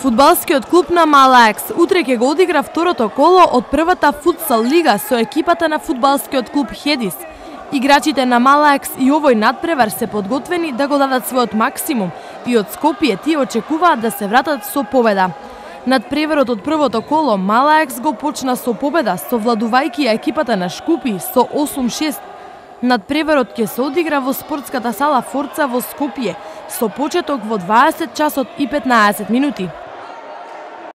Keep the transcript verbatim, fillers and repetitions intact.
Фудбалскиот клуб на Малаекс утре ќе го одигра второто коло од првата футсал лига со екипата на фудбалскиот клуб Хедис. Играчите на Малаекс и овој надпревар се подготвени да го дадат својот максимум и од Скопје тие очекуваат да се вратат со победа. Надпреварот од првото коло Малаекс го почна со победа, совладувајќи ја екипата на Шкупи со осум шест. Надпреварот ќе се одигра во спортската сала Форца во Скопје со почеток во дваесет часот и петнаесет минути.